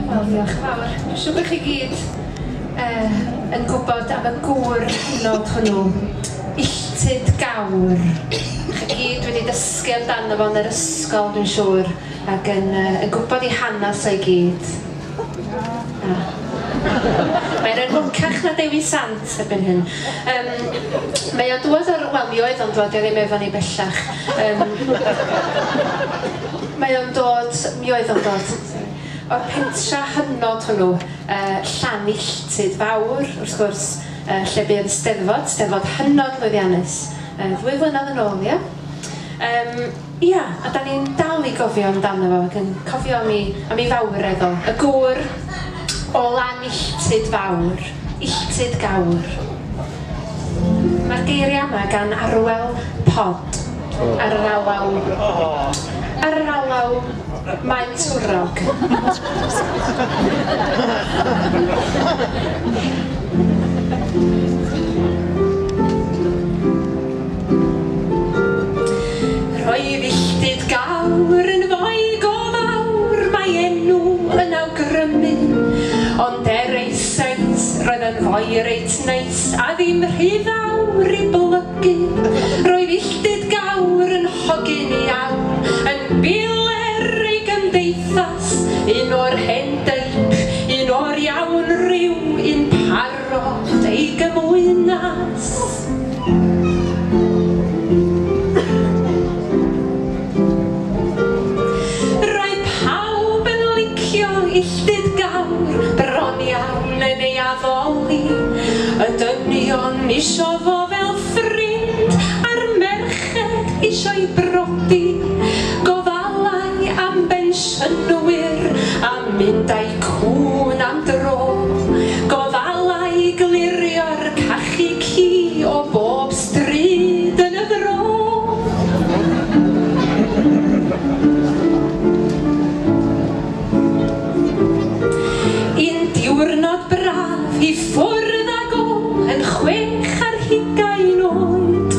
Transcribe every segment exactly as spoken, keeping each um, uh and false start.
Wel, diolch yn fawr. Dwi'n siŵr bod chi gyd uh, yn gwybod am y gŵr hynod hwnnw, Illtud Gawr. Chi gyd wedi dysgu amdano fo yn yr ysgol, dwi'n siŵr, ac yn, uh, yn gwybod ei hanes o'i gyd. Ah. Mae'n enwocach na Dewi Sant erbyn hyn. Um, mae o'n dŵad o'r... Wel, mi oedd o'n dŵad, o ddim efo ni bellach. Um, mae o'n dod... Mi oedd o'n dod o'r pentra hynod hwnnw, uh, Llanilltud Fawr, wrth gwrs, uh, lle buodd y Steddfod, Steddfod hynod lwyddiannus, uh, ddwy flynedd yn ôl, ia? Um, ia, a da ni'n dal i gofio amdano fo, ac yn cofio am ei, am ei fawredd o. Y gŵr o Lanilltud Fawr, Illtud Gawr. Mae'r geiriau yma gan Arwel Pod, ar yr alaw, ar yr alaw Maen Twrog. Roedd Illtud Gawr yn foi go fawr, mae enw yn awgrymu, ond er ei seis roedd yn foi reit neis a ddim rhy fawr i blygu. Roedd Illtud Gawr yn hogyn iawn, yn biler ei gymdeithas, un o'r hen deip, un o'r iawn ryw, un parod ei gymwynas. Roedd pawb yn licio Illtud Gawr, bron iawn yn ei addoli, y dynion isio fo fel ffrind, a'r merched isio'i brodi. Gofalai am bensiynwyr, a mynd â'i cŵn am dro. Gofalai glirio'r cachu ci o bob stryd yn y fro. Un diwrnod braf i ffwrdd ag o yn chwech ar hugain oed,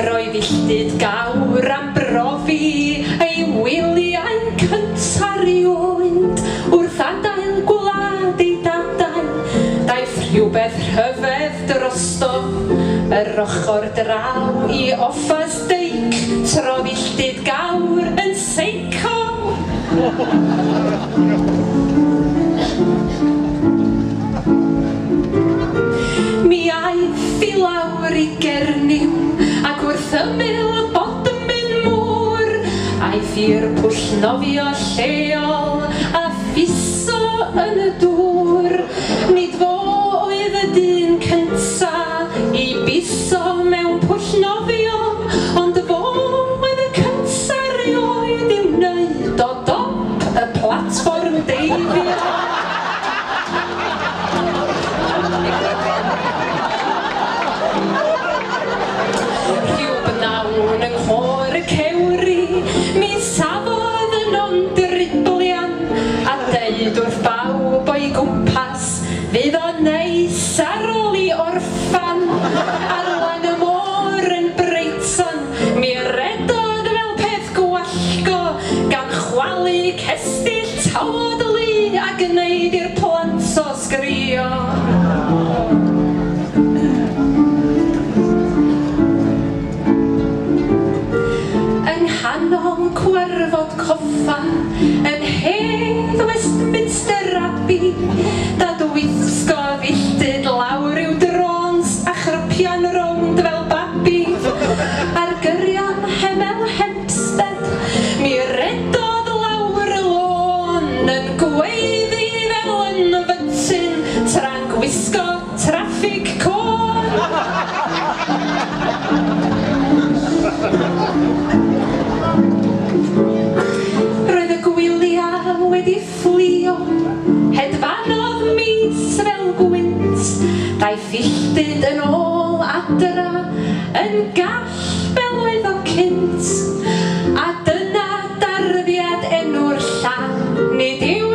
roedd Illtud Gawr am brofi ei wyliau cynta rioed. Wrth adael gwlad ei dadau, daeth rhywbeth rhyfedd drosto, yr ochr draw i Offa's Dyke, trodd Illtud Gawr yn seico. Mi aeth i lawr i Gernyw, ac wrth ymyl Bodmin Moor, aeth i'r pwll nofio lleol a ffiso yn y dŵr. Nid fo oedd y dyn cynta i biso mewn pwll nofio, ond fo oedd y cynta rioed i'w wneud o dop y platfform deifio. Rhyw bnawn yng nghôr y cewri, mi safodd yno'n driblian, a deud wrth bawb o'i gwmpas, fydd o'n neis ar ôl i orffan. Ar lan y môr yn Brighton, mi redodd fel peth gwallgo, gan chwalu cestyll tawod lu a gwneud i'r plant o sgrio. Yng nghanol cwarfod coffa, yn hedd Westminster Abbey, dadwisgodd Illtud lawr i'w drôns a chropian rownd fel babi. Ar gyrion Hemel Hempstead, mi redodd lawr y lôn, yn gweiddi fel yn fytyn, tra'n gwisgo traffig côn. Roedd y gwyliau wedi fflio, hedfanodd mis fel gwynt, daeth Illtud yn ôl adra, yn gall fel oedd o cynt. A dyna darddiad enw'r llan, nid yw